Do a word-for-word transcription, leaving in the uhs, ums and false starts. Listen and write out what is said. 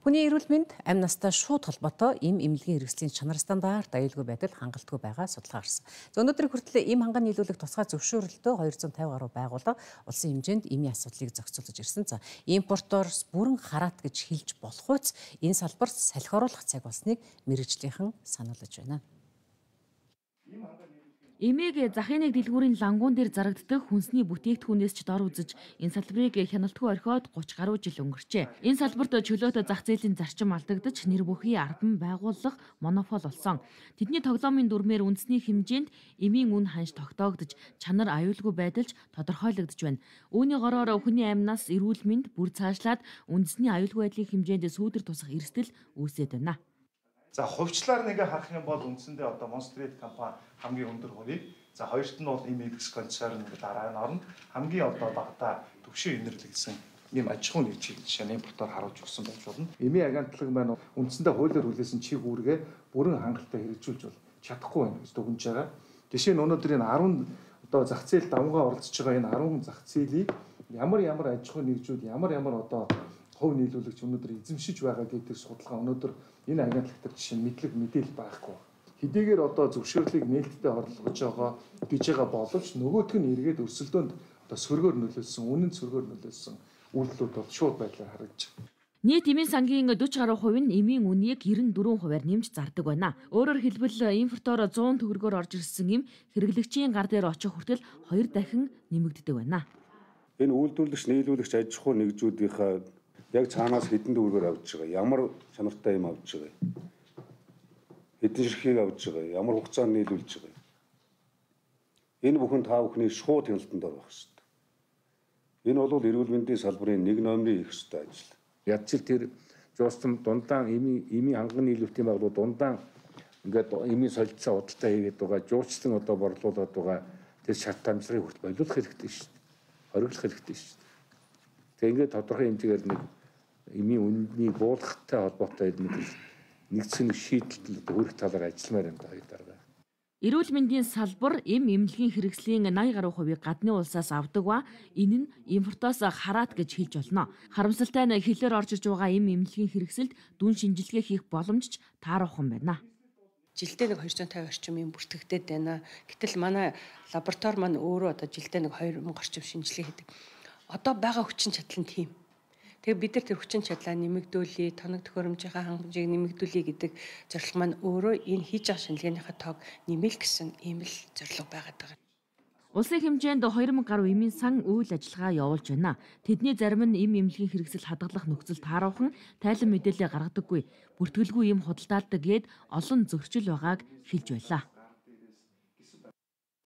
Хүний эрүүл мэнд амь настай шууд холбоотой эм эмнэлгийн хэрэгслийн чанар стандарт аюулгүй байдал хангалтгүй байгаа судалгаа гарсан. Өнөөдөр хүртэл эм ханган нийлүүлэх тусгай зөвшөөрөлтөө хоёр зуун тавин гаруй байгууллага улсын хэмжээнд эмийн асуудлыг зохицуулж ирсэн. За импорторс бүрэн хараат гэж хэлж болох үс энэ салбарт салхи оруулах цаг болсныг мэргэжлийнхэн сануулж байна. Эмээг захыныг дэлгүүрийн лангуун дээр зарагддаг хүнсний бүтээгдэхүүнээс ч дор үзэж энэ салбарыг хяналтгүй орхиод гуч гаруй жил өнгөрчээ. Энэ салбарт чөлөөтэй зах зээлийн зарчим алдагдаж нэр бүхий ардан байгууллага монопол болсон. Тэдний тоглоомын дүрмээр үндэсний хэмжээнд эмийн үн ханш тогтоогдож чанар аюулгүй байдалж тодорхойлогдож байна. Үүний гороор хүний амнаас эрүүл мэнд бүр цаашлаад үндэсний аюулгүй байдлын хэмжээнд сүүдэр тусах эрсдэл үүсээд байна. За хувьчлаар нэгэ харах юм бол үндсэндээ одоо Монстрит компани хамгийн өндөр хурийг, за хоёрт нь бол Имэдикс концерн гэдэг дараа нь орно. Хамгийн одоо багадаа төвшин инэрлэгдсэн ийм аж ахуйн нэгжийг жишээ нь импортоор харуулж өгсөн байж болно. Эмийн агентлаг маань үндсэндээ хуулиар хүлээсэн чиг үүргээ бүрэн хангалттай хэрэгжүүлж бол чадахгүй байна гэж дүгнэж байгаа. Жишээ нь өнөөдөр энэ арван одоо зах зээл давнгаа оролцож байгаа энэ арван зах зээлийг ямар ямар аж ахуйн нэгжүүд ямар ямар одоо хувь нийлүүлэгч өнөөдөр эзэмшиж байгаа гэдэг судалгаа өнөөдөр энэ агентлагтар жишээ нь мэдлэг мэдээлэл байхгүй. Хэдийгээр одоо зөвшөөрлийг нээлттэй орлогож байгаа гэж байгаа боловч нөгөөх нь эргээд өрсөлдөөнд одоо сөргөөр нөлөөлсөн, үнэн сөргөөр нөлөөлсөн үйлдэлүүд бол шууд байдлаар харагдаж байна. Нийт эмийн сангийн дөрвөн гаруй хувь нь эмийн үнийг девять дөрвөн хувиар нэмж зардаг байна. Өөрөөр хэлбэл импортоор зуун төгрөгөөр орж ирсэн эм хэрэглэгчийн гар дээр очих хүртэл хоёр дахин нэмэгддэг байна. Энэ үйлдвэрлэгч, нийлүүлэгч аж ахуй нэгжүүдийнхээ яг цаанаас хэдэн төгрөгөөр авч байгаа, ямар чанартай юм авч байгаа, хэдэн ширхгийг авч байгаа, ямар хугацаанд нийлүүлж байгаа. Энэ бүхэн та бүхний шууд хяналтанд орох хэрэгтэй. Энэ бол эрүүл мэндийн салбарын нэг номерын их ёстой ажил. Ядчил тэр жуустам дундаан эмийн эмийн ханган нийлүүлэлтийн байгууллага дундаан ингээд эмийн солилцоо худалдаа хийгээд байгаа, жуулчлан одоо борлуулад байгаа тэр шат тамирчлагыг хүртэл болиулах хэрэгтэй шүү дээ. Хориглох хэрэгтэй шүү дээ. Тэгээ ингээд тодорхой хэмжээгээр нэг эмийн үннийг буулгахтай холбоотой нэгдсэн шийдэлд хүрэх талаар ажилламаар юм байна дараа. Эрүүл мэндийн салбар эм эмнэлгийн хэрэгслийн найман гаруй хувийг гадны улсаас авдаг ба энэ нь импортоос хараат гэж хэлж болно. Харамсалтай нь хэлээр орж иж байгаа эм эмнэлгийн хэрэгсэлд дүн шинжилгээ хийх боломж ч тааруухан байна. Жилдээ нэг хоёр зуун тавин орчим юм бүртгэгдээд байна. Гэтэл манай лаборатори маань өөрөө одоо жилдээ нэг хоёр мянга орчим шинжилгээ хийдэг. Одоо байгаа хүчин чадал нь тийм. Тэгээ бид нар тэр хүчин чадлаа нэмэгдүүлээ, тоног төхөөрөмжийнхаа хангамжийг нэмэгдүүлээ гэдэг зорилго маань өөрөө энэ хийж байгаа шинжилгээнийхээ тоог нэмэл гэсэн ийм л зорилго байгаад байгаа. Улсын хэмжээнд хоёр мянга гаруй эмийн сан үйл ажиллагаа явуулж байна. Тэдний зарим нь эм эмнэлгийн хэрэгсэл хадгалах нөхцөл тааруухан тайлан мэдээлэл гаргадаггүй, бүртгэлгүй эм худалдаалдаг гээд олон зөрчил байгааг хэлж байлаа.